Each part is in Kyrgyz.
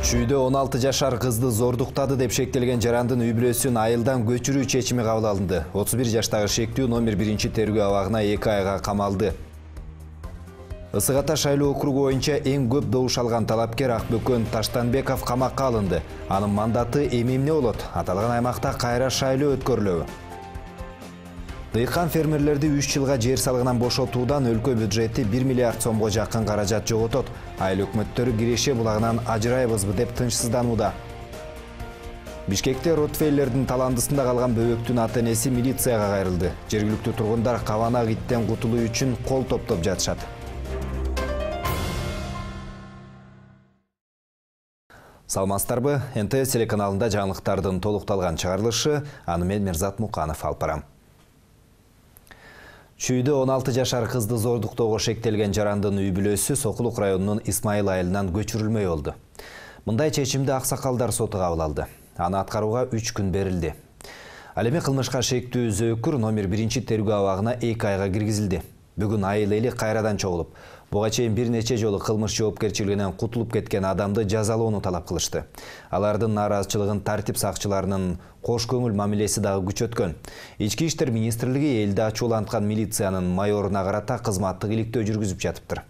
Чүйдө 16 жашар кызды зордуктады деп шектелген жарандын үй бүлөсүн айылдан көчүрүү чечими кабыл алынды. 31 жаштагы шектүү номер 1 тергөө абагына 2 айга камалды. Ысык Ата шайлоо округу боюнча эң көп добуш алган талапкер Акбөкөн Таштанбеков камакка алынды. Анын мандаты эмне болот? Аталган аймакта кайра шайлоо өткөрүлөбү? Дыйкан фермерлерди 3 жылга жер салыгынан бошотуудан өлкө бюджети 1 миллиард сомго жакын каражат жоготот. Айыл өкмөттөрү Киреше булагынан ажырайбызбы деп тынчсызданууда. Бишкекте Ротвейлердин таландысында калган бөбөктүн ата-энеси милицияга кайрылды. Жергиликтүү тургундар кабанак иттен кутулуу үчүн кол топтоп жатышат. Саламатсыздарбы? НТС телеканалында жаңылыктардын толукталган чыгарылышы, аны мен Мирзат Муканов алып барам. Чүйдө 16 жашар кызды зордуктоого шектелген жарандын үй бүлөсү Сокулук районунун Исмайыл айылынан көчүрүлмөй болду. Мындай чечимди Аксакалдар соту кабыл алды. Аны аткарууга 3 күн берилди. Ал эми кылмышка шектүү Зөөкүр номер 1 тергөө абагына 2 айга киргизилди. Бүгүн айыл эли кайрадан чогулуп, буга чейин бир нече жолу кылмыш жоопкерчилигинен кутулуп кеткен адамды жазалоону талап кылышты. Алардын нааразычылыгын тартип сакчыларынын кош көңүл мамилеси дагы күчөткөн. Ички иштер министрлиги элди ачууланткан милициянын майоруна карата кызматтык иликтөө жүргүзүп жатыптыр.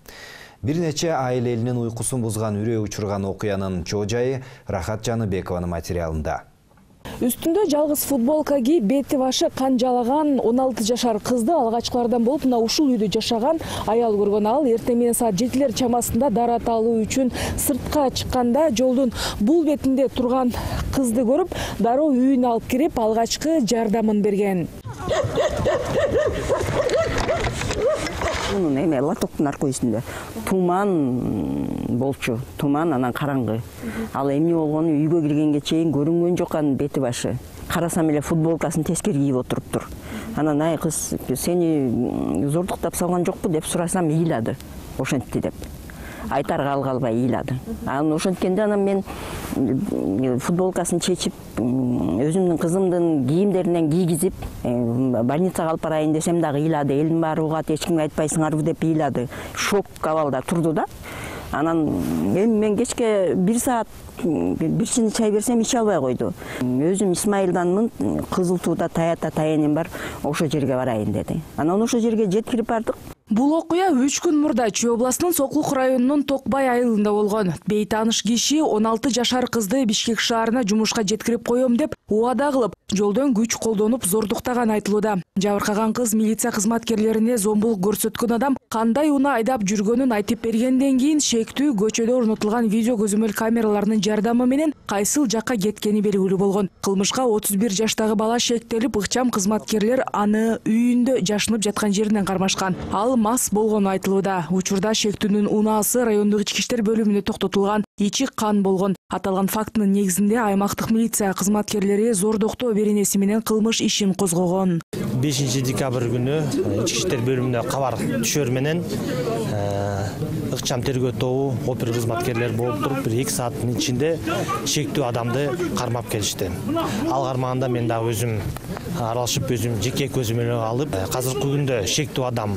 Бир нече айыл элинин уйкусун бузган үрөө учурган окуянын чоо жайы Рахат Жаныбекованын материалында. Үстүндө жалгыз футболка кийип, бети башы кан жалаган 16 жашар кызды алгачкылардан болуп, мына ушул үйдө жашаган аял көргөн. Ал эртең менен саат 7 чамасында дарат алуу үчүн сыртка чыкканда жолдун бул бетинде турган кызды көрүп, дароо үйүнө алып кирип, алгачкы жардамын берген. Мунун эме лотоктун аркы үстүндө туман болчу, туман анан караңгы. Ал эмне болгону үйгө киргенге чейин көрүнгөн жок, анын бети башы. Карасам эле футболкасын тескери кийип отуруптур. Анан ай кыз, сени зордуктап салган жокпу деп сурасам, ыйлады. Ошентти деп. Айтарга алгалбай ыйлады. Анан ошенткенде анан мен футболкасын чечип, өзүмдүн кызымдын кийимдеринен кийгизип, больницага алып барайын десем дагы ыйлады. Элдин баары угат, эч кимге айтпайсыңарбы деп ыйлады. Шок абалда турду да. Анан мен кечке 1 саат бир чыны чай берсем иче албай койду. Өзүм Исмайылданмын, Кызыл Тууда таянем бар, ошо жерге барайын деди. Анан ошо жерге жеткирип бардык. Бул окуя 3 күн мурда Чүй областынын Сокулук районунун Токбай айылында болгон. Бейтааныш киши 16 жашар кызды Бишкек шаарына жумушка жеткирип коем деп убада кылып, жолдон күч колдонуп зордуктаган айтылууда. Жабыркаган кыз милиция кызматкерлерине зомбулук көрсөткөн адам кандай унаа айдап жүргөнүн айтып бергенден кийин шектүү көчөдө орнотулган видео көзөмөл камераларынын жардамы менен кайсыл жакка кеткени белгилүү болгон. Кылмышка 31 жаштагы бала шектелип, ыкчам кызматкерлер аны үйүндө жашынып жаткан жеринен кармашкан. Ал мас болгону айтылууда. Учурда шектүүнүн унаасы райондук ички иштер бөлүмүнө токтотулган, ичи кан болгон. Аталган фактынын негизинде аймактык милиция кызматкерлери зордуктоо беренеси менен кылмыш ишин козгогон. 5 декабрь күнү ички иштер бөлүмүнө кабар түшөр менен ыкчам тергөө тобу опер кызматкерлери болуп туруп, 1-2 сааттын ичинде шектүү адамды кармап келишти. Ал кармаганда мен дагы өзүм аралашып, өзүм жеке көзөмөлгө алып, азыркы күндө шектүү адам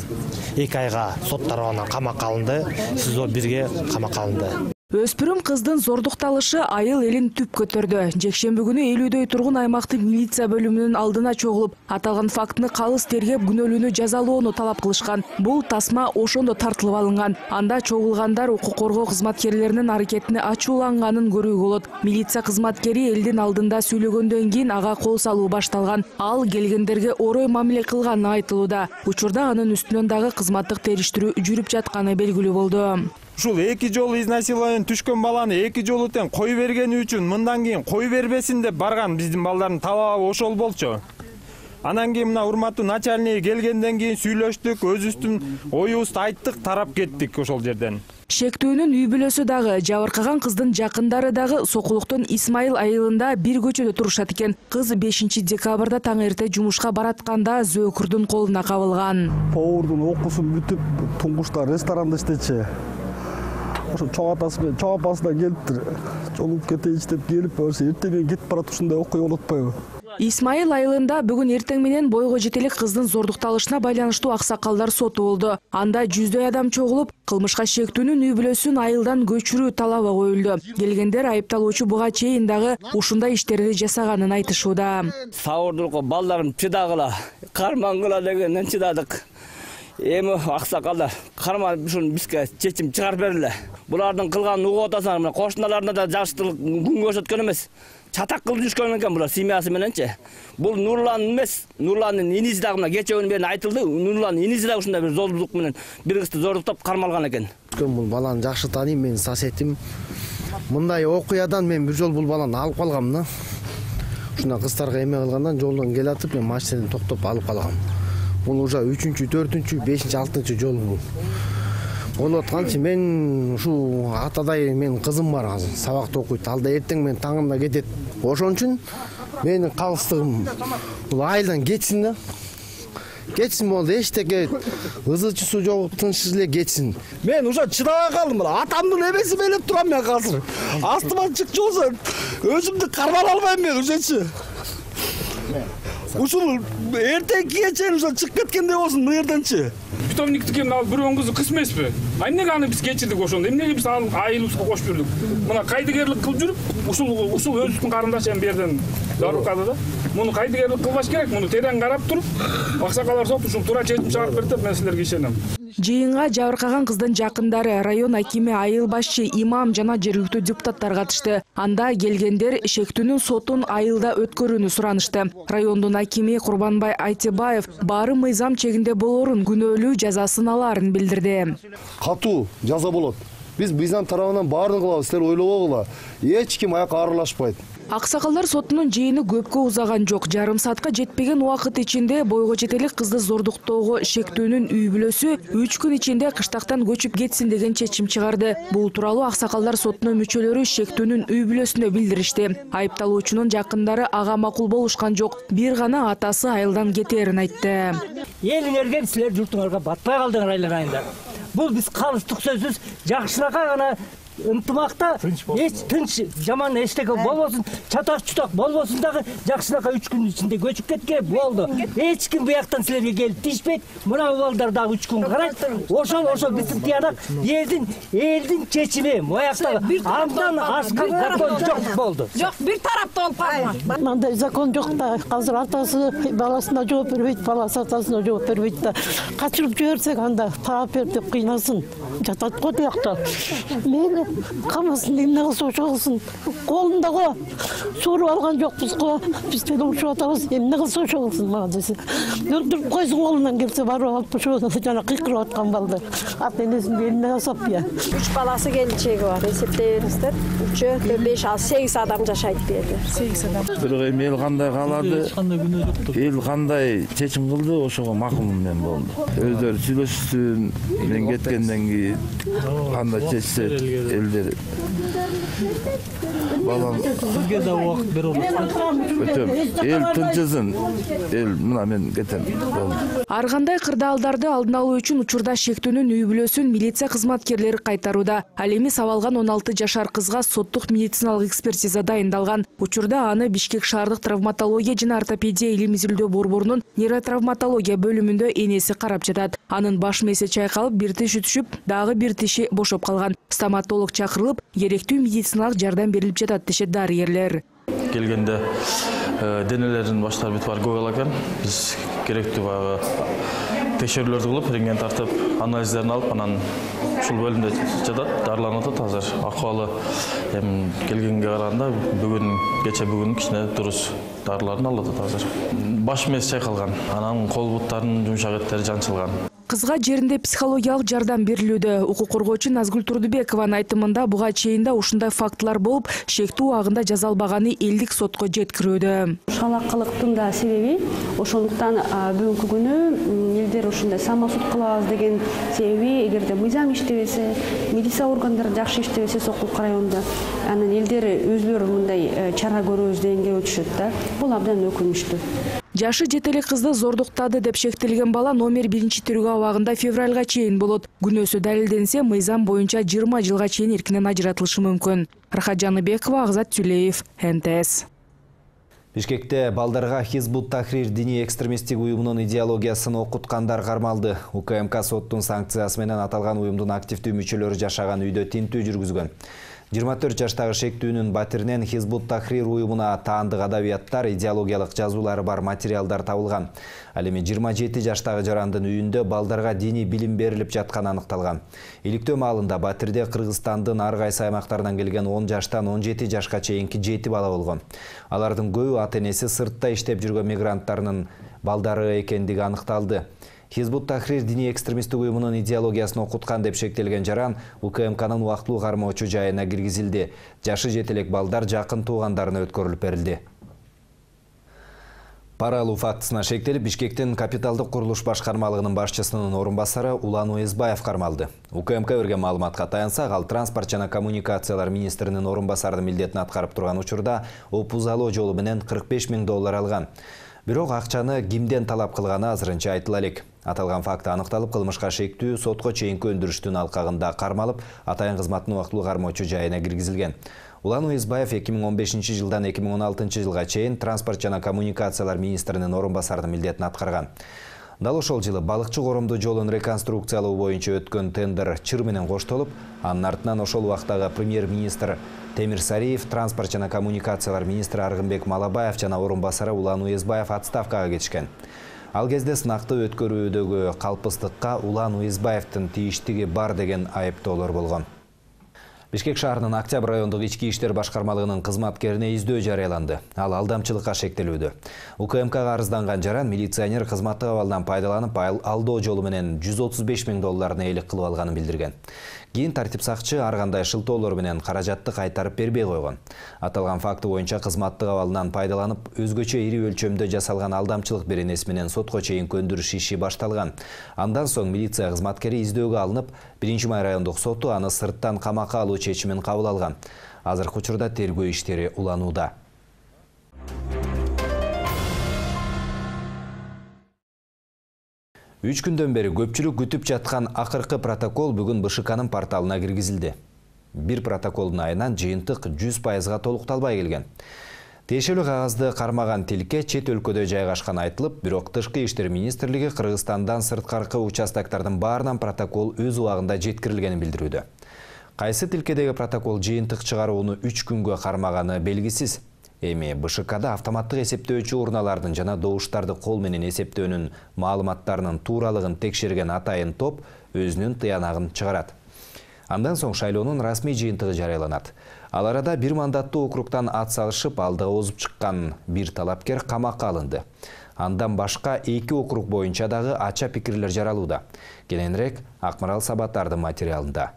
2 айга сот тарабынан камакка алынды, СИЗО 1-ге камакка алынды. Өспүрүм кыздын зордукталышы айыл элин түп көтөрдү. Жекшемби күнү 50дөй тургун аймактык милиция бөлүмүнүн алдына чогулуп, аталган фактыны калыс тергеп, күнөөлүүнү жазалоону талап кылышкан. Бул тасма ошондо тартылып алынган. Анда чогулгандар укук коргоо кызматкерлеринин аракетине ачууланганын көрүүгө болот. Милиция кызматкери элдин алдында сүйлөгөндөн кийин ага кол салуу башталган. Ал келгендерге орой мамиле кылганы айтылууда. Учурда анын үстүнөн дагы кызматтык териштирүү жүрүп жатканы белгилүү болду. Ушул 2 жолу изнасилованиеден түшкөн баланы 2 жолу тең кой бергени үчүн мындан кийин кой бербесин деп барган биздин балдардын талабы ошол болчу. Анан кийин мына урматтуу начальник келгенден кийин сүйлөштүк, өзүбүздүн оюбузду айттык, тарап кеттик ошол жерден. Шектүүнүн үй бүлөсү дагы, жабыркаган кыздын жакындары дагы Сокулуктун Исмайыл айылында бир көчөдө турушат экен. Кыз 5 декабрда таң эрте жумушка баратканда Зөөкүрдүн колуна кабылган. Повардын окуусу бүтүп, туңгучта ресторанда иштечи. Ошо чоң атасы менен чоң апасы да келиптир. Жолуп кетейинчи деп келип, эртең кетип барат, ушундай окуя болуп атпайбы? Исмаил айылында бүгүн эртең менен бойго жетелик кыздын зордукталышына байланыштуу аксакалдар соту болду. Анда жүздөй адам чогулуп, кылмышка шектүүнүн үй бүлөсүн айылдан көчүрүү талабы коюлду. Келгендер айыпталуучу буга чейин дагы ушундай иштерди жасаганын айтышууда. Сауырдурго балдарым чыдагыла, кармангыла дегенден чыдадык. Эми аксакалдар карманып ушуну бизге чечим чыгарып бергиле. Булардын кылганын угуп атасыңар, мына кошуналарына да жакшылык күн көрсөткөн эмес. Чатак кылып жүрүшкөн экен булар семьясы мененчи. Бул Нурлан эмес, Нурландын иниси дагы мына кечеөнүн берин айтылды. Нурландын иниси дагы ушундай бир золдук менен бир кызды зордуктап кармалган экен. Бул баланы жакшы тааныйм, менин соседим. Мындай окуядан мен бир жол бул баланы алып калгам да. Ушундай кыздарга эме кылгандан жолдон келатып мен машинаны токтоп алып калгам. Бул уже 3-чү, 4-чү, 5-чи, 6-чы жол бул. Болуп атканчы мен ушу атадай менин кызым бар азыр, сабакта окуйт. Алда эртең мен таңында кетет. Ошон үчүн менин калыстыгым бул айылдан кетсин да. Кетсин болду, эчтеке ызычысу жок, тынчсыз эле кетсин. Мен уже чыдабай калдым. Атамдын эмеси белеп турам мен азыр. Астыма чыкчы болсо өзүмдү кармала албайм мен уже. Ушул эртеңки чейин уже чыгып кеткендей болсун бул жерденчи. Питомниктики алып бирөөнүн кызы кыз эмеспи? Эмнеге аны биз кечирдик ошондо? Эмнеге биз айылыбызга кошуп жүрдүк? Мына кайдыгерлик кылып жүрүп, ушул өзүбүздүн карындашы эми бу жерден жарыкады да. Муну кайдыгерлик кылбаш керек, муну терең карап туруп, аксакалдар сот ушул туура чечим чыгарып берди деп мен силерге ишенем. Жыйынга жабыркаган кыздын жакындары, район акими, айыл башчы, имам жана жергиликтүү депутаттар катышты. Анда келгендер шектүүнүн сотун айылда өткөрүүнү суранышты. Райондун акими Курбанбай Айтыбаев баары мыйзам чегинде болорун, күнөөлүү жазасын алаарын билдирди. Катуу жаза болот. Биз мыйзам тарабынан баарын кылабыз, силер ойлобогула. Эч ким аяка аралашпайт. Аксакалдар сотунун жыйыны көпкө узаган жок. Жарым саатка жетпеген убакыт ичинде бойго жетелик кызды зордуктоого шектүүнүн үй бүлөсү 3 күн ичинде кыштактан көчүп кетсин деген чечим чыгарды. Бул тууралуу Аксакалдар сотунун мүчөлөрү шектүүнүн үй бүлөсүнө билдиришти. Айыпталуучунун жакындары ага макул болушкан жок. Бир гана атасы айылдан кетерин айтты. Элиңерге силер журтуңарга батпай калдыңар айлар айында. Бул биз калыстык сөзсүз жакшырака гана ынтымакта эч тынч жаман эчтеке болбосун, чатак-чутак болбосун дагы жакшырака 3 күн ичинде көчүп кетке болду. Эч ким буяктан силерге келип тишпейт. Мына балдар дагы 3 күн карайт. Ошол биздин тиянак элдин чечими. Буякта андан ашкан закон жок болду. Жок, бир тарапта болуп калган. Мындай закон жок да. Азыр атасы баласына жооп бербейт, баласы атасына жооп бербейт да. Качырып жиберсек анда таап бер деп кыйнасын. Жатат го буякта. Мени камасын эмне кылса ошо кылсын. Колунда го. Сууруп алган жокпуз го. Биз төлөшүп атабыз. Эмне кылса ошо кылсын мага десе. Өлтүрүп койсун, колунан келсе барып алып ошо жана кыйкырып аткан балдар. Ата энесин эмне кылсап я. 3 баласы келинчеги бар. Эсептей бериңиздер. 3, 5, 8 адам жашайт бу жерде. 8 адам. Бирок эми эл кандай каалады? Эл кандай чечим кылды, ошого макулмун мен болду. Өздөрү сүйлөшсүн, мен кеткенден кийин кандай чечсе элдер балам сизге да убакыт берип өтөм. Эл тынчысын. Эл мына мен кетем болду. Ар кандай кырдаалдарды алдын алуу үчүн учурда шектүүнүн үй бүлөсүн милиция кызматкерлери кайтарууда. Ал эми сабалган 16 жашар кызга соттук медициналык экспертиза дайындалган. Учурда аны Бишкек шаардык травматология жана ортопедия илим изилдөө борборунун нейротравматология бөлүмүндө энеси карап жатат. Анын баш мээси чайкалып, бир тиши түшүп, дагы бир тиши бошоп калган. Стоматолог чакырылып, керектүү медициналык жардам берилип жатат дешет дарыгерлер. Келгенде денелерин баштары бүтүп аргып экен. Биз керектүү баягы текшерүүлөрдү кылып, рентген тартып, анализдерин алып, анан ушул бөлүмдө жатат, дарыланып атат азыр. Акыбалы эми келгенге караганда бүгүн кече бүгүн кичине дурус дарыларын алып атат азыр. Баш мээси чайкалган, анан кол буттарынын жумшак эттери жанчылган. Кызга жеринде психологиялык жардам берилүүдө. Укук коргоочу Назгүл Турдубекованын айтымында буга чейин да ушундай фактылар болуп, шектүү убагында жазалбаганы элдик сотко жеткирүүдө. Шалакылыктын да себеби ошондуктан бүгүнкү күнү элдер ушундай самосуд кылабыз деген себеби, эгерде мыйзам иштебесе, милиция органдары жакшы иштебесе Сокулук районунда, анан элдер өзүлөрү мындай чара көрөбүз дегенге өтүшөт да. Бул абдан өкүнүчтүү. Жашы жетелик кызды зордуктады деп шектелген бала номер 1-тергөө абагында февралга чейин болот. Күнөөсү далилденсе, мыйзам боюнча 20 жылга чейин эркинен ажыратылышы мүмкүн. Рахат Жаныбекова, Агзат Сүлеев, НТС. Бишкекте балдарга Хизбут Тахрир диний экстремисттик уюмунун идеологиясын окуткандар кармалды. УКМК соттун санкциясы менен аталган уюмдун активдүү мүчөлөрү жашаган үйдө тинтүү жүргүзгөн. 24 жаштагы шектүүнүн батиринен Хизбут Тахрир уюмуна таандык адабияттар, идеологиялык жазуулары бар материалдар табылган. Ал эми 27 жаштагы жарандын үйүндө балдарга диний билим берилип жатканы аныкталган. Иликтөө маалында батирде Кыргызстандын ар кайсы аймактарынан келген 10 жаштан 17 жашка чейинки 7 бала болгон. Алардын көбү ата-энеси сыртта иштеп жүргөн мигранттарынын балдары экендиги аныкталды. Хизбут Тахрир диний экстремисттик уюмунун идеологиясын окуткан деп шектелген жаран УКМКнын убактылуу кармоочу жайына киргизилди. Жашы жетелек балдар жакын туугандарына өткөрүлүп берилди. Пара алуу фактысына шектелип, Бишкектин капиталдык курулуш башкармалыгынын башчысынын орун басары Улан Уезбаев кармалды. УКМК берген маалыматка таянсак, ал транспорт жана коммуникациялар министринин орун басарынын милдетин аткарып турган учурда опузалоо жолу менен $45 000 алган. Бирок акчаны кимден талап кылганы азырынча айтыла элек. Аталган факт аныкталып, кылмышка шектүү сотко чейинки өндүрүштүн алкагында кармалып, атайын кызматтын убактылуу кармоочу жайына киргизилген. Улан Уезбаев 2015 жылдан 2016 жылга чейин транспорт жана коммуникациялар министринин орун басарынын милдетин аткарган. Дал ошол жылы балыкчы коромду жолун реконструкциялоо боюнча өткөн тендер чыр менен коштолуп, анын артынан ошол убактагы премьер-министр Темир Сариев, транспорт жана коммуникациялар министри Аргынбек Малабаев жана орун басары Улан Уезбаев отставкага кетишкен. Ал кезде сынакты өткөрүүдөгү калпыстыкка Улан Уезбаевдин тийиштиги бар деген айыптоолор болгон. Бишкек шаарынын Октябрь райондук ички иштер башкармалыгынын кызматкерине издөө жарыяланды. Ал алдамчылыкка шектелүүдө. УКМКга арызданган жаран милиционер кызматтык абалдан пайдаланып алдоо жолу менен $135 000 ээлик кылып алганын билдирген. Кийин тартип сакчы ар кандай шылтоолор менен каражатты кайтарып бербей койгон. Аталган факты боюнча кызматтык абалынан пайдаланып, өзгөчө ири өлчөмдө жасалган алдамчылык беренеси менен сотко чейинки өндүрүш иши башталган. Андан соң милиция кызматкери издөөгө алынып, 1-май райондук соту аны сырттан камакка алуу чечимин кабыл алган. Азыркы учурда тергөө иштери уланууда. 3 күндөн бери көпчүлүк күтүп жаткан акыркы протокол бүгүн БШКнын порталына киргизилди. Бир протоколдун айынан жыйынтык 100%га толукталбай келген. Тиешелүү кагазды кармаган тилке чет өлкөдө жайгашкан айтылып, бирок Тышкы иштер министрлиги Кыргызстандан сырткаркы участоктардын баарынан протокол өз убагында жеткирилгенин билдирүүдө. Кайсы тилкедеги протокол жыйынтык чыгарууну 3 күнгө кармаганы белгисиз. Эми БШКда автоматтык эсептөөчү урналардын жана добуштарды кол менен эсептөөнүн маалыматтарынын тууралыгын текшерген атайын топ өзүнүн тыянагын чыгарат. Андан соң шайлоонун расмий жыйынтыгы жарыяланат. Ал арада бир мандаттуу округтан ат салышып, алдыга озуп чыккан бир талапкер камакка алынды. Андан башка 2 округ боюнча дагы ача пикирлер жаралууда. Кененирээк Акмарал Сабаттардын материалында.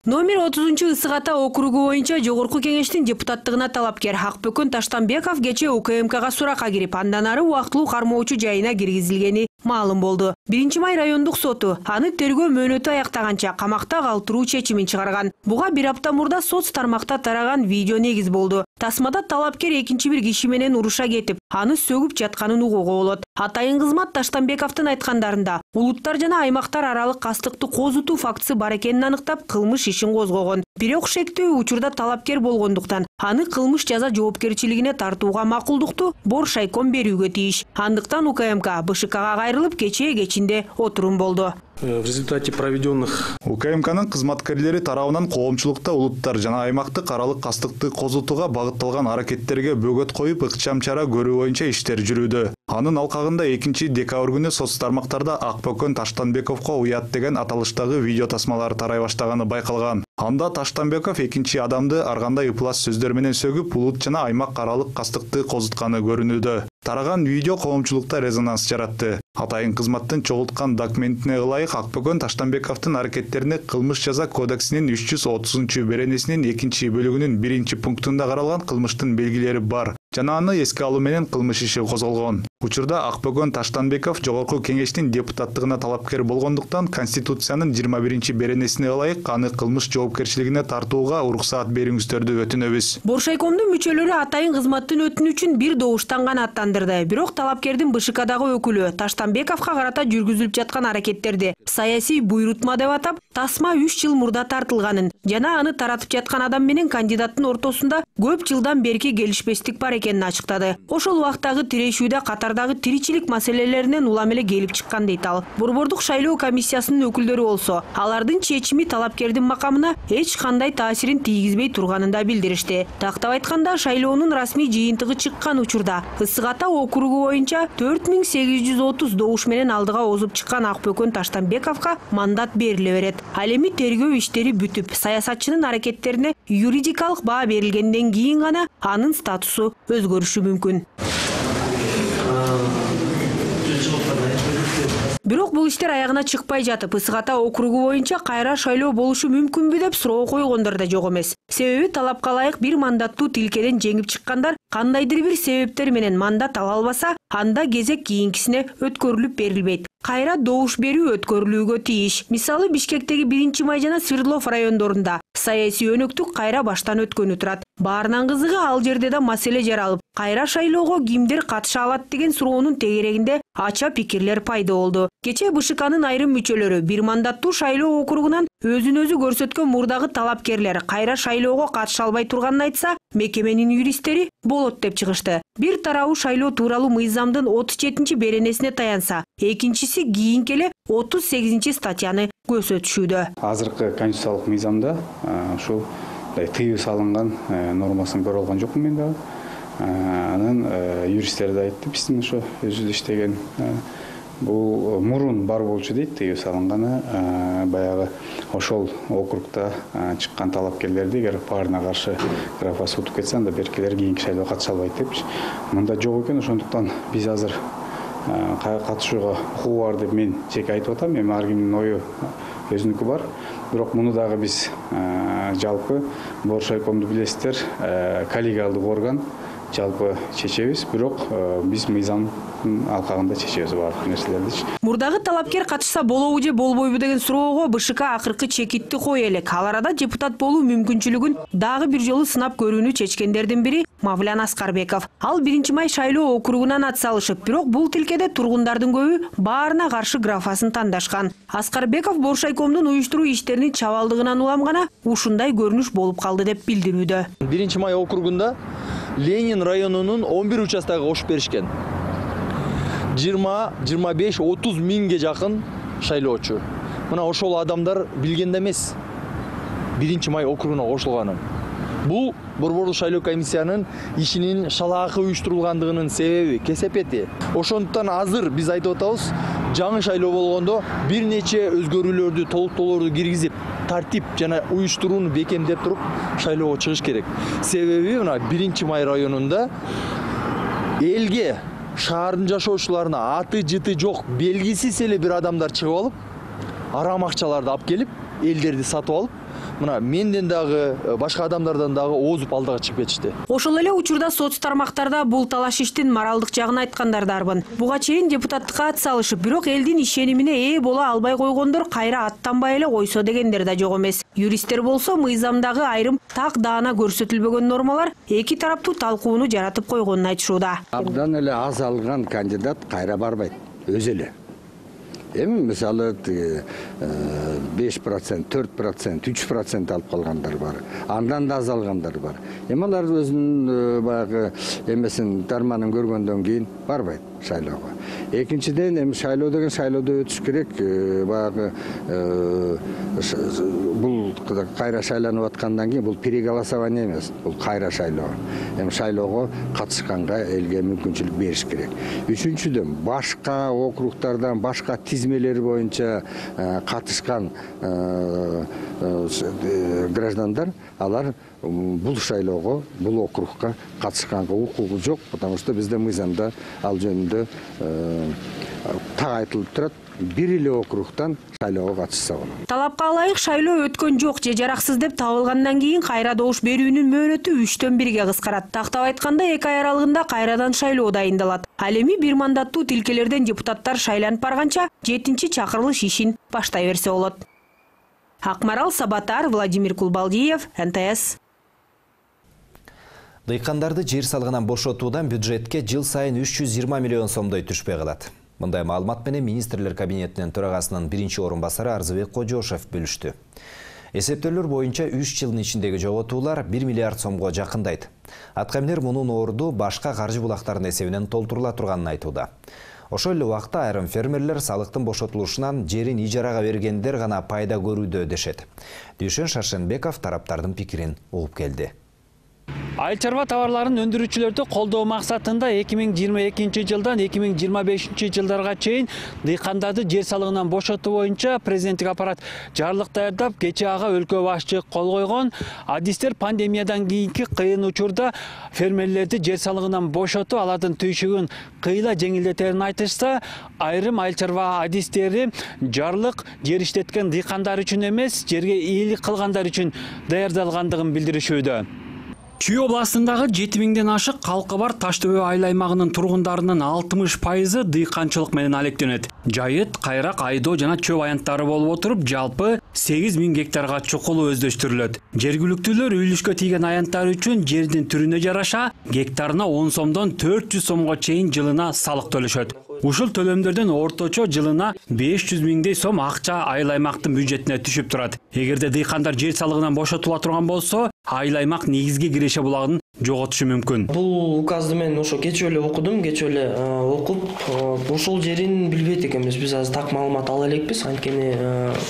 Номер 30 ысык ата округу боюнча жогорку кеңештин депутаттыгына талапкер Акбөкөн Таштанбеков кечээ УКМКга суракка кирип, андан ары убактылуу кармоочу жайына киргизилгени маалым болду. 1-май райондук соту аны тергөө мөөнөтү аяктаганча камакта калтыруу чечимин чыгарган. Буга бир апта мурда соц тармакта тараган видео негиз болду. Тасмада талапкер экинчи бир киши менен уруша кетип, аны сөгүп жатканын угууга болот. Атайын кызмат Таштанбековдун айткандарында улуттар жана аймактар аралык кастыкты козутуу фактысы бар экенин аныктап, кылмыш ишин козгогон. Бирок шектүү учурда талапкер болгондуктан аны кылмыш жаза жоопкерчилигине тартууга макулдукту Бор шайком берүүгө тийиш. Андыктан УКМК БШКга кайрылып кечээ кечинде отурум болду. В результате проведенных УКМКнын кызматкерлери тарабынан коомчулукта улуттар жана аймактык аралык кастыкты козутууга багытталган аракеттерге бөгөт коюп, ыкчам чара көрүү боюнча иштер жүрүүдө. Анын алкагында 2-декабрь күнү соц тармактарда Акбөкөн Таштанбековго уят деген аталыштагы видео тасмалары тарай баштаганы байкалган. Анда Таштанбеков экинчи адамды ар кандай ыплас сөздөр менен сөгүп, улут жана аймак аралык кастыкты козутканы көрүнүүдө. Тараган видео коомчулукта резонанс жаратты. Атайын кызматтын чогулткан документине ылайык Акбөкөн Таштанбековдун аракеттерине кылмыш жаза кодексинин 330 беренесинин 2-бөлүгүнүн 1-пунктунда каралган кылмыштын белгилери бар. Жана аны эске алуу менен кылмыш иши козголгон. Учурда Акбөкөн Таштанбеков жогорку кеңештин депутаттыгына талапкер болгондуктан Конституциянын 21 беренесине ылайык аны кылмыш жоопкерчилигине тартууга уруксаат бериңиздерди өтүнөбүз. Боршайкомдун мүчөлөрү атайын кызматтын өтүнү үчүн бир добуштан гана аттандырды. Бирок талапкердин БШКдагы өкүлү Таштанбековго карата жүргүзүлүп жаткан аракеттерди саясий буйрутма деп атап, тасма 3 жыл мурда тартылганын жана аны таратып жаткан адам менен кандидаттын ортосунда көп жылдан берки келишпестик бар экенин ачыктады. Ошол убактагы тирешүүдө катардагы тиричилик маселелеринен улам эле келип чыккан дейт ал. Борбордук шайлоо комиссиясынын өкүлдөрү болсо, алардын чечими талапкердин макамына эч кандай таасирин тийгизбей турганын да билдиришти. Тактап айтканда, шайлоонун расмий жыйынтыгы чыккан учурда Ысык Ата округу боюнча 4830 добуш менен алдыга озуп чыккан Акбөкөн Таштанбековго мандат бериле берет. Ал эми тергөө иштери бүтүп, саясатчынын аракеттерине юридикалык баа берилгенден кийин гана анын статусу өзгөрүшү мүмкүн. Бирок бул иштер аягына чыкпай жатып, Ысык Ата округу боюнча кайра шайлоо болушу мүмкүнбү деп суроо койгондор да жок эмес. Себеби талапка ылайык бир мандаттуу тилкеден жеңип чыккандар кандайдыр бир себептер менен мандат ала албаса, анда кезек кийинкисине өткөрүлүп берилбейт. Кайра добуш берүү өткөрүлүүгө тийиш. Мисалы, Бишкектеги 1-Май жана Свердлов райондорунда саясий өнөктүк кайра баштан өткөнү турат. Баарынан кызыгы, ал жерде да маселе жаралып, кайра шайлоого кимдер катыша алат деген суроонун тегерегинде ача пикирлер пайда болду. Кечээ БШКнын айрым мүчөлөрү бир мандаттуу шайлоо округунан өзүн өзү көрсөткөн мурдагы талапкерлер кайра шайлоого катыша албай турганын айтса, мекеменин юристтери болот деп чыгышты. Бир тарабы шайлоо тууралуу мыйзамдын 37 беренесине таянса, экинчиси кийинки эле 38 статьяны көрсөтүшүүдө. Азыркы конституциялык мыйзамда ушул тыюу салынган нормасын көрө алган жокмун мен дагы. Анан юристтер да айтты, биздин ошо өзүбүз иштеген бул мурун бар болчу дейт, тыюу салынганы баягы ошол округда чыккан талапкерлерди эгер баарына каршы графасы утуп кетсе, анда беркилер кийинки шайлоого катыша албайт депчи. Мында жок экен, ошондуктан биз азыр катышууга укугу бар деп мен жеке айтып атам. Эми ар кимдин ою өзүнүкү бар. Бирок муну дагы биз жалпы Боршайкомду билесиздер, коллегиалдык орган жалпы чечебиз, бирок биз мыйзам алкагында чечебиз баардык нерселерди. Мурдагы талапкер катышса болобу же болбойбу деген суроого БШК акыркы чекитти кое элек. Ал арада депутат болуу мүмкүнчүлүгүн дагы бир жолу сынап көрүүнү чечкендердин бири Мавлян Аскарбеков. Ал 1-Май шайлоо округунан ат салышып, бирок бул тилкеде тургундардын көбү баарына каршы графасын тандашкан. Аскарбеков Боршайкомдун уюштуруу иштеринин чабалдыгынан улам гана ушундай көрүнүш болуп калды деп билдирүүдө. 1-Май округунда Ленин районунун 11 участогу кошуп беришкен. 20-25-30 миңге жакын шайлоочу. Мына ошол адамдар билгенде эмес 1-Май округуна кошулганын. Бул Борбордук шайлоо комиссиянын ишинин шалаакы уюштурулгандыгынын себеби, кесепети. Ошондуктан азыр биз айтып атабыз, жаңы шайлоо болгондо бир нече өзгөрүүлөрдү, толуктоолорду киргизип, тартип жана уюштурууну бекемдеп туруп шайлоого чыгыш керек. Себеби мына 1-Май районунда элге, шаардын жашоочуларына аты жыты жок, белгисиз эле бир адамдар чыгып алып, арам акчаларды алып келип, элдерди сатып алып, мына менден дагы, башка адамдардан дагы озуп алдыга чыгып кетишти. Ошол эле учурда соц тармактарда бул талаш иштин моралдык жагын айткандар дарбын. Буга чейин депутаттыкка ат салышып, бирок элдин ишенимине ээ боло албай койгондор кайра аттанбай эле койсо дегендер да жок эмес. Юристтер болсо мыйзамдагы айрым так даана көрсөтүлбөгөн нормалар эки тараптуу талкууну жаратып койгонун айтышууда. Абдан эле аз алган кандидат кайра барбайт, өзү эле. Эми мисалы 5%, 4%, 3% алып калгандар бар. Андан да аз алгандар бар. Эми алар өзүнүн баягы эмесин тарманын көргөндөн кийин барбайт шайлоого. Экинчиден эми шайлоо деген шайлоодо өтүш керек. Баягы бул кайра шайланып аткандан кийин бул переголосование эмес, бул кайра шайлоо. Эми шайлоого катышканга элге мүмкүнчүлүк бериш керек. Үчүнчүдөн башка округдардан, башка тизмелер боюнча катышкан граждандар, алар бул шайлоого, бул округга катышканга укугу жок, потому что бизде мыйзамда ал жөнүндө ошондо так айтылып турат, бир эле округтан шайлоого катышса болот. Талапка ылайык шайлоо өткөн жок же жараксыз деп табылгандан кийин кайра добуш берүүнүн мөөнөтү 3-төн 1-ге кыскарат. Тактап айтканда 2 ай аралыгында кайрадан шайлоо дайындалат. Ал эми 1 мандаттуу тилкелерден депутаттар шайланып барганча 7-чакырылыш ишин баштай берсе болот. Акмарал Сабатар, Владимир Кулбалдиев, НТС. Дыйкандарды жер салыгынан бошотуудан бюджетке жыл сайын 320 миллион сомдой түшпөй калат. Мындай маалымат менен министрлер кабинетинин төрагасынын биринчи орун басары Арзыбек Кожошев бөлүштү. Эсептөөлөр боюнча 3 жылдын ичиндеги жоготуулар 1 миллиард сомго жакындайт. Аткаминер мунун орду башка каржы булактарынын эсебинен толтурула турганын айтууда. Ошол эле убакта айрым фермерлер салыктын бошотулушунан жерин ижарага бергендер гана пайда көрүүдө дешет. Дүйшөн Шаршенбеков тараптардын пикирин угуп келди. Айыл чарба товарларын өндүрүүчүлөрдү колдоо максатында 2022 жылдан 2025 жылдарга чейин дыйкандарды жер салыгынан бошотуу боюнча президенттик аппарат жарлык даярдап, кечээ ага өлкө башчы кол койгон. Адистер пандемиядан кийинки кыйын учурда фермерлерди жер салыгынан бошотуп, алардын түйшүгүн кыйла жеңилдетерин айтышса, айрым айыл чарба адистери жарлык жер иштеткен дыйкандар үчүн эмес, жерге ийгилик кылгандар үчүн даярдалгандыгын билдиришүүдө. Чүй областындагы 7000ден ашык калкы бар Таш төбө айыл аймагынын тургундарынын 60% дыйканчылык менен алектенет. Жайыт, кайрак, айдоо жана чөп аянттары болуп отуруп, жалпы 8000 гектарга чукулу өздөштүрүлөт. Жергиликтүүлөр үйлүшкө тийген аянттар үчүн жердин түрүнө жараша гектарына 10 сомдон 400 сомго чейин жылына салык төлөшөт. Ушул төлөмдөрдөн орточо жылына 500 миңдей сом акча айыл аймактын бюджетине түшүп турат. Эгерде дыйкандар жер салыгынан бошотула турган болсо, айыл аймак негизги киреше булагын жоготушу мүмкүн. Бул указды мен ошо кечээ эле окудум, кечээ эле окуп, ошол жерин билбейт экенбиз. Биз азыр так маалымат ала элекпиз, анткени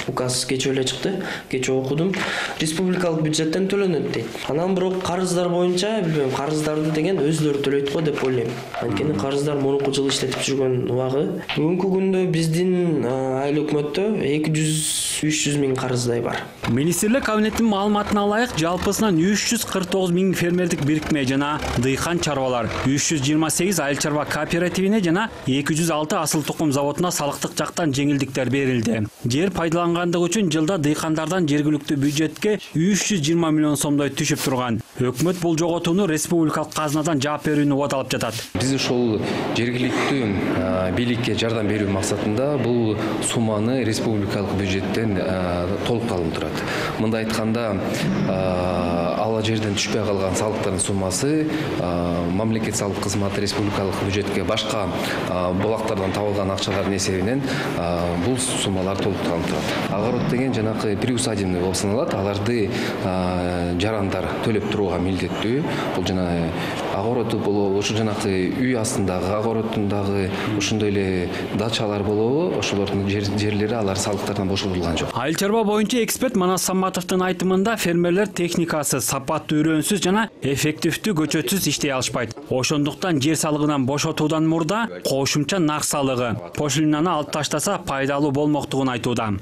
указ кечээ эле чыкты, кечээ окудум. Республикалык бюджеттен төлөнөт дейт. Анан бирок карыздар боюнча, билбейм, карыздарды деген өзлөрү төлөйт го деп ойлойм. Анткени карыздар мурунку жылы иштетип жүргөн убагы. Бүгүнкү күндө биздин айыл өкмөттө 200-300 миң карыздай бар. Министрлер кабинетинин маалыматына ылайык жалпысынан 349 миң фермердик бирикме жана дыйкан чарбалар, 328 айыл чарба кооперативине жана 206 асыл тукум заводуна салыктык жактан жеңилдиктер берилди. Жер пайдалангандыгы үчүн жылда дыйкандардан жергиликтүү бюджетке 320 миллион сомдой түшүп турган. Өкмөт бул жоготууну республикалык казынадан жаап берүүнү убадалап жатат. Биз ошол жергиликтүү бийликке жардам берүү максатында бул сумманы республикалык бюджеттен толук алынып турат. Мындай айтканда, ала жерден түшпөй калган салыктардын суммасы мамлекет салык кызматы республикалык бюджетке башка булактардан табылган акчалардын эсебинен бул суммалар толукталып турат. Огород деген жанакы приусадебный болуп саналат. Аларды жарандар төлөп турууга милдеттүү. Бул жана огороду болобу, ошо жанакы үй астындагы огородундагы ошондой эле дачалар болобу, ошолордун жерлери алар салыктардан бошотулган жок. Айыл чарба боюнча эксперт Манас Саматовдун айтымында фермерлер техникасы сапаттуу, үйрөнсүз жана эффективдүү көчөтсүз иштей алышпайт. Ошондуктан жер салыгынан бошотуудан мурда кошумча нарк салыгы, пошлинаны алып таштаса пайдалуу болмоктугун айтууда.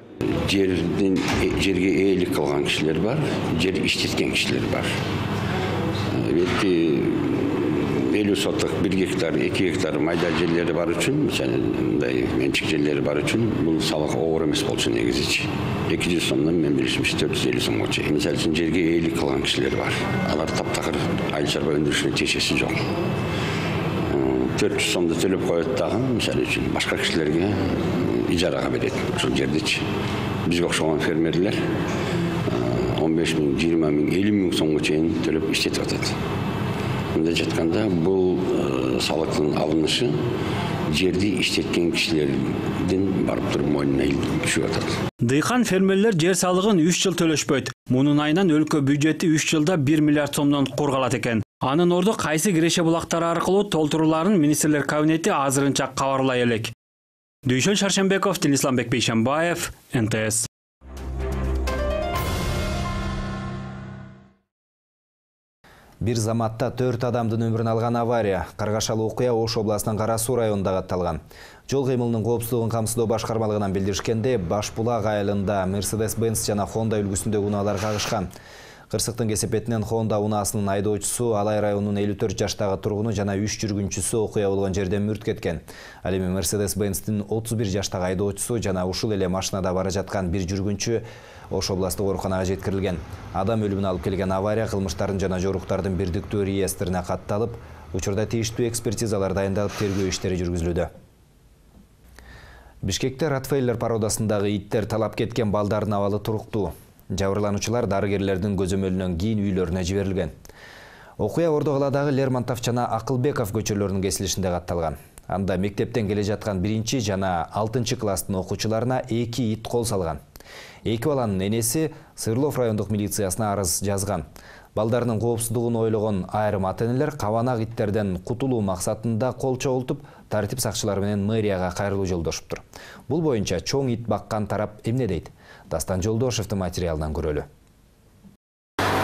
Жерге ээлик кылган кишилер бар, жер иштеткен кишилер бар. Белки 50 соток 1 гектар, 2 гектар майда жерлери бар үчүн, мындай менчик жерлери бар үчүн бул салык оор эмес болчу негизичи. 200 сомдон мен билишимче 450 сомго чейин. Мисалы үчүн жерге ээлик кылган кишилер бар. Алар таптакыр айыл чарба өндүрүшүнө тиешеси жок. 400 сомду төлөп коет дагы, мисалы үчүн башка кишилерге ижарага берет ошол жердичи. Бизге окшогон фермерлер 15 миң, 20 миң, 50 миң сомго чейин төлөп иштетип атат. Мындай жатканда бул салыктын алынышы жерди иштеткен кишилердин барып туруп мойнуна түшүп атат. Дыйкан фермерлер жер салыгын 3 жыл төлөшпөйт. Мунун айынан өлкө бюджети 3 жылда 1 миллиард сомдон кургалат экен. Анын орду кайсы киреше булактары аркылуу толтуруларын министрлер кабинети азырынча кабарлай элек. Дүйшөн Шаршенбеков, Исламбек Бейшенбаев, НТС. Бир заматта 4 адамдын өмүрүн алган авария, каргашалуу окуя Ош областынын Кара Суу районунда катталган. Жол кыймылынын коопсуздугун камсыздоо башкармалыгынан билдиришкенде, Башбулак айылында Mercedes-Benz жана Honda үлгүсүндөгү унаалар кагышкан. Кырсыктын кесепетинен Honda унаасынын айдоочусу Алай районунун 54 жаштагы тургуну жана 3 жүргүнчүсү окуя болгон жерден мүрт кеткен. Ал эми Mercedes-Benz'тин 31 жаштагы айдоочусу жана ушул эле машинада бара жаткан бир жүргүнчү Ош областык ооруканага жеткирилген. Адам өлүмүнө алып келген авария кылмыштардын жана жоруктардын бирдиктүү реестрине катталып, учурда тийиштүү экспертизалар дайындалып, тергөө иштери жүргүзүлүүдө. Бишкекте Ротвейлер породасындагы иттер талап кеткен балдардын абалы туруктуу. Жабырлануучулар дарыгерлердин көзөмөлүнөн кийин үйлөрүнө жиберилген. Окуя Ордо калаадагы Лермонтов жана Акылбеков көчөлөрүнүн кесилишинде катталган. Анда мектептен келе жаткан 1 жана 6 класстын окуучуларына 2 ит кол салган. 2 баланын энеси Сырлов райондук милициясына арыз жазган. Балдарынын коопсуздугун ойлогон айрым ата-энелер кабанак иттерден кутулуу максатында кол чогултуп, тартип сакчылары менен мэрияга кайрылуу жолдошуптур. Бул боюнча чоң ит баккан тарап эмне дейт? Дастан Жолдошевдин материалынан көрөлү.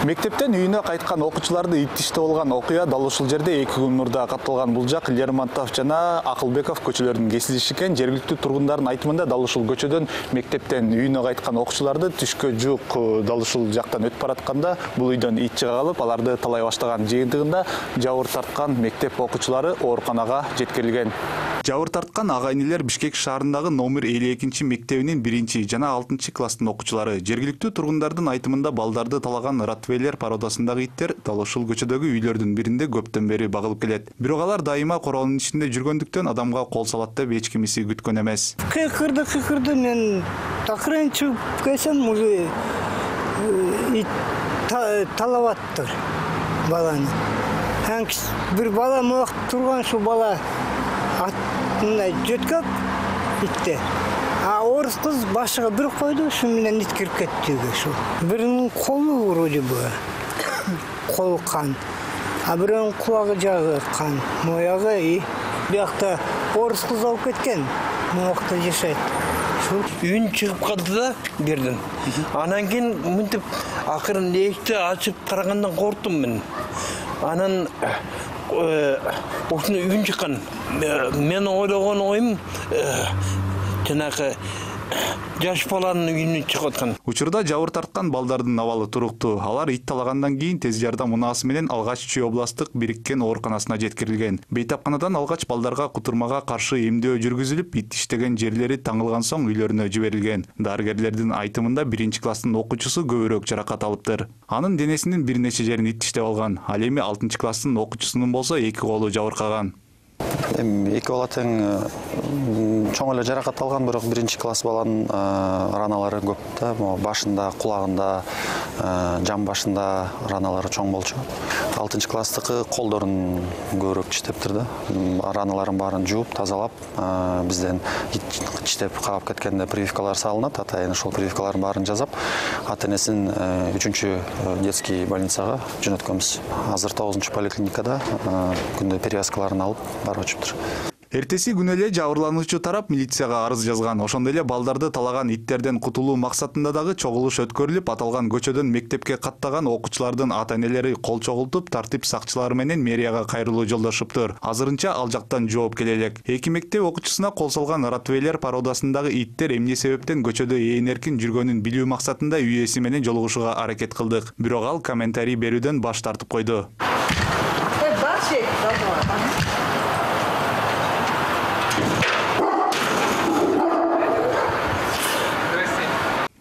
Мектептен үйүнө кайткан окуучуларды иттиште болгон окуя дал ушул жерде 2 күн мурда катталган. Бул жак Лермонтов жана Акылбеков көчөлөрүнүн кесилиши экен. Жергиликтүү тургундардын айтымында дал ушул көчөдөн мектептен үйүнө кайткан окуучуларды түшкө жук дал ушул жактан өтүп баратканда бул үйдөн ит чыга калып, аларды талай баштаган. Жыйынтыгында жабыр тарткан мектеп окуучулары ооруканага жеткирилген. Жабыр тарткан ага-инилер Бишкек шаарындагы номер 52 мектебинин 1 жана 6 класстын окуучулары. Жергиликтүү тургундардын айтымында балдарды талаган Ротвейлер породасындагы иттер дал ушул көчөдөгү үйлөрдүн биринде көптөн бери багылып келет. Бирок алар дайыма короонун ичинде жүргөндүктөн адамга кол салат деп эч кимиси күткөн эмес. Кыкырды мен такырын чыгып келсем уже ит талабаттыр баланы. Бир бала муак турган шу бала мындай жөткөп итте. А орус кыз башыга бир койду, шу менен ит кирип кетти ушу. Биринин колу вроде бы кол кан, а биринин кулагы жагы кан, моягы и биякта орус кыз алып кеткен, моякта жашайт. Үйүн чыгып калды да бердим. Анан кийин мынтип акырын эшикти ачып карагандан корктум мен. Анан ушуну үйүн чыккан. Мен ойлогон оюм жанагы жаш баланын үйүнөн чыгып аткан. Учурда жабыр тарткан балдардын абалы туруктуу. Алар ит талагандан кийин тез жардам унаасы менен алгач Чүй областык бириккен ооруканасына жеткирилген. Бейтапканадан алгач балдарга кутурмага каршы эмдөө жүргүзүлүп, ит иштеген жерлери таңылган соң үйлөрүнө жиберилген. Дарыгерлердин айтымында 1 класстын окуучусу көбүрөөк жаракат алыптыр. Анын денесинин бир нече жерин ит иштеп алган. Ал эми 6 класстын окуучусунун болсо 2 колу жабыркаган. Эки бала тең чоң эле жаракат алган, бирок 1 класс баланын раналары көп да, башында, кулагында, жан башында раналары чоң болчу. 6 класстыкы колдорун көбүрөөк иштептир да. Раналарын баарын жууп, тазалап, бизден иштеп каап кеткенде прививкалар салынат. Атайын ошол прививкалардын баарын жасап, ата-энесин 3 детский больницага жөнөткөнбүз. Азыр 9 поликлиникада күндө перевязкаларын алып барып өчүптүр. Эртеси күнү эле жабырлануучу тарап милицияга арыз жазган. Ошондой эле балдарды талаган иттерден кутулуу максатында дагы чогулуш өткөрүлүп, аталган көчөдөн мектепке каттаган окуучулардын ата-энелери кол чогултуп, тартип сакчылары менен мэрияга кайрылуу жолдошуптур. Азырынча ал жактан жооп келе элек. 2 мектеп окуучусуна кол салган Ротвейлер породасындагы иттер эмне себептен көчөдө эркин жүргөнүн билүү максатында үй ээси менен жолугушууга аракет кылдык. Бирок ал комментарий берүүдөн баш тартып койду.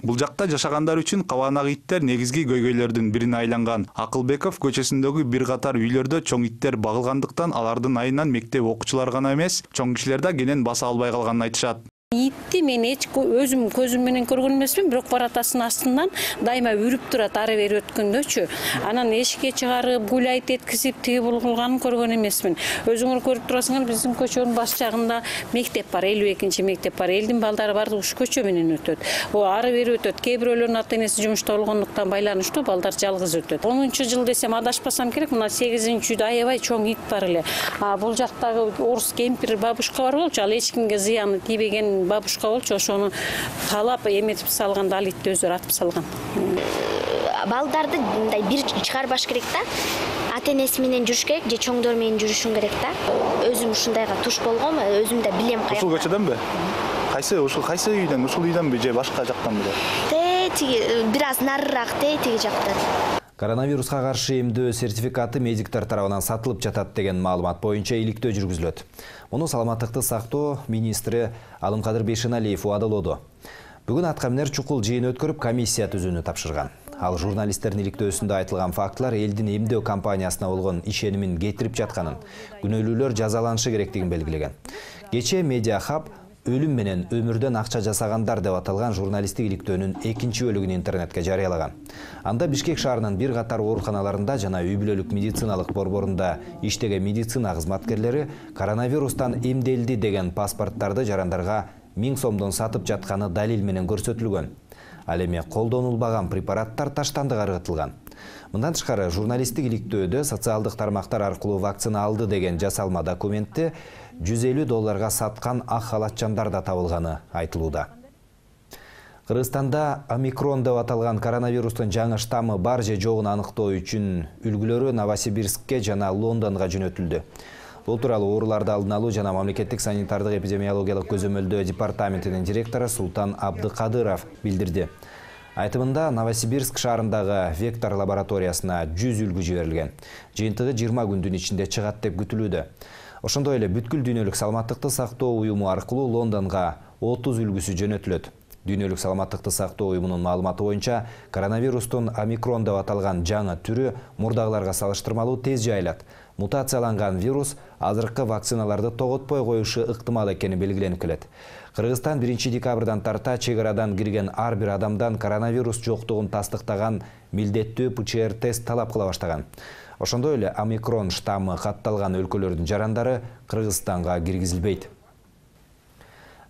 Бул жакта жашагандар үчүн кабанак иттер негизги көйгөйлөрдүн бирине айланган. Акылбеков көчөсүндөгү бир катар үйлөрдө чоң иттер багылгандыктан алардын айынан мектеп окуучулары гана эмес, чоң кишилер да кенен баса албай калганын айтышат. Итти мен өзүм көзүм менен көргөн эмесмин, бирок баратасынын астынан дайыма үрүп турат ары бери өткөндөчү. Анан эшикке чыгарып, гуляйт эткизип, тиги бул кылганын көргөн эмесмин. Өзүңөр көрүп турасыңар, биздин көчөнүн баш жагында мектеп бар, 52 мектеп бар. Элдин балдары баардыгы ушу көчө менен өтөт. Ары бери өтөт. Кээ бирөөлөрүнүн ата-энеси жумушта болгондуктан байланыштуу балдар жалгыз өтөт. 10-жыл десем адашпасам керек, мына 8-үйдө аябай чоң ит бар эле. Бул жактагы орус кемпир бабушка бар болчу, ал эч кимге зыяны тийбеген бабушка болчу, ошону талап эметип салганда ал итти өздөрү атып салган. Балдарды мындай бир чыгарбаш керек да. Ата-энеси менен жүрүш керек, же чоңдор менен жүрүшүң керек да. Өзүм ушундайга туш болгом, өзүм да билем каяка. Ушул көчөдөнбү? Кайсы үйдөн? Ушул үйдөнбү же башка жактанбы? Тиги бир аз нарыраак тиги жактан. Коронавируска каршы эмдөө сертификаты медиктер тарабынан сатылып жатат деген маалымат боюнча иликтөө жүргүзүлөт. Муну саламаттыкты сактоо министри Алымкадыр Бейшеналиев убадалоодо. Бүгүн аткаминер чукул жыйын өткөрүп комиссия түзүүнү тапшырган. Ал журналисттердин иликтөөсүндө айтылган фактылар элдин эмдөө компаниясына болгон ишенимин кетирип жатканын, күнөөлүүлөр жазаланышы керектигин белгилеген. Кечээ Медиа Хаб өлүм менен өмүрдөн акча жасагандар деп аталган журналисттик иликтөөнүн экинчи бөлүгүн интернетке жарыялаган. Анда Бишкек шаарынын бир катар ооруканаларында жана үй бүлөлүк медициналык борборунда иштеген медицина кызматкерлери коронавирустан эмделди деген паспорттарды жарандарга 1000 сомдон сатып жатканы далил менен көрсөтүлгөн. Ал эми колдонулбаган препараттар таштандыга ыргытылган. Мындан тышкары журналисттик иликтөөдө социалдык тармактар аркылуу вакцина алды деген жасалма документти $150 саткан ак халатчандар да табылганы айтылууда. Кыргызстанда омикрон деп аталган коронавирустун жаңы штаммы бар же жогун аныктоо үчүн үлгүлөрү Новосибирскке жана Лондонго жөнөтүлдү. Бул тууралуу ооруларды алдын алуу жана мамлекеттик санитардык эпидемиологиялык көзөмөлдөө департаментинин директору Султан Абдыкадыров билдирди. Айтымында Новосибирск шаарындагы Вектор лабораториясына 100 үлгү жиберилген. Жыйынтыгы 20 күндүн ичинде чыгат деп күтүлүүдө. Ошондой эле бүткүл дүйнөлүк саламаттыкты сактоо уюму аркылуу Лондонго 30 үлгүсү жөнөтүлөт. Дүйнөлүк саламаттыкты сактоо уюмунун маалыматы боюнча, коронавирустун омикрон деп аталган жаңы түрү мурдагыларга салыштырмалуу тез жайылат. Мутацияланган вирус азыркы вакциналарды тоготпой коюшу ыктымал экени белгиленип келет. Кыргызстан 1 декабрдан тарта чек арадан кирген ар бир адамдан коронавирус жоктугун тастыктаган милдеттүү ПЦР тест талап кыла баштаган. Ошондой эле омикрон штаммы катталган өлкөлөрдүн жарандары Кыргызстанга киргизилбейт.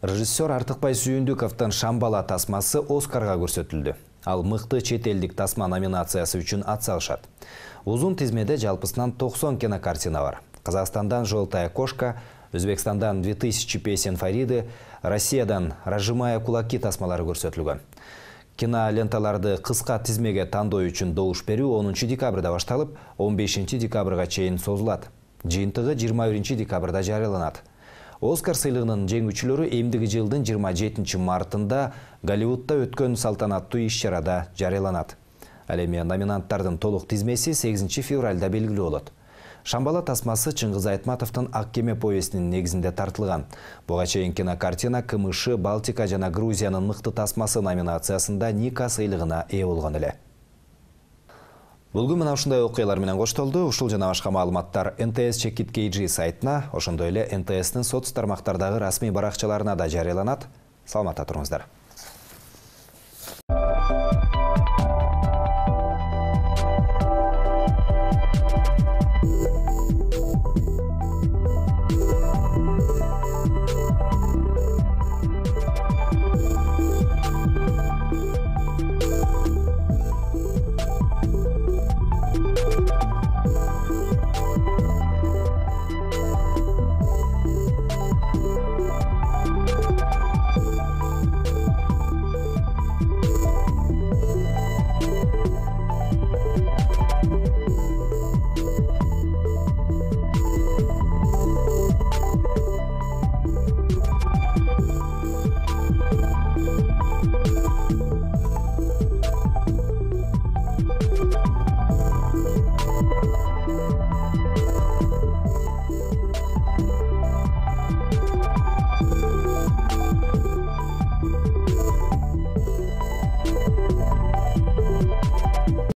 Режиссер Артыкбай Сүйүндүковдун «Шамбала» тасмасы Оскарга көрсөтүлдү. Ал мыкты чет элдик тасма номинациясы үчүн ат салышат. Узун тизмеде жалпысынан 90 кинокартина бар. Казакстандан «Желтая кошка», Өзбекстандан 2000 песен Фариды, Россиядан «Разжимая кулаки» тасмалары көрсөтүлгөн. Киноленталарды кыска тизмеге тандоо үчүн добуш берүү 10 декабрда башталып, 15 декабрга чейин созулат. Жыйынтыгы 21 декабрда жарыяланат. Оскар сыйлыгынын жеңүүчүлөрү эмдиги жылдын 27 мартында Голливудда өткөн салтанаттуу иш-чарада жарыяланат. Ал эми номинанттардын толук тизмеси 8 февралда белгилүү болот. «Шамбала» тасмасы Чыңгыз Айтматовдун «Ак кеме» повестинин негизинде тартылган. Буга чейин кинокартина КМШ, Балтика жана Грузиянын мыкты тасмасы номинациясында Ника сыйлыгына ээ болгон эле. Бүгүн мына ушундай окуялар менен коштолду. Ушул жана башка маалыматтар НТС Чекит KG сайтына, ошондой эле НТСтин соц тармактардагы расмий баракчаларына да жарыяланат. Саламатта туруңуздар.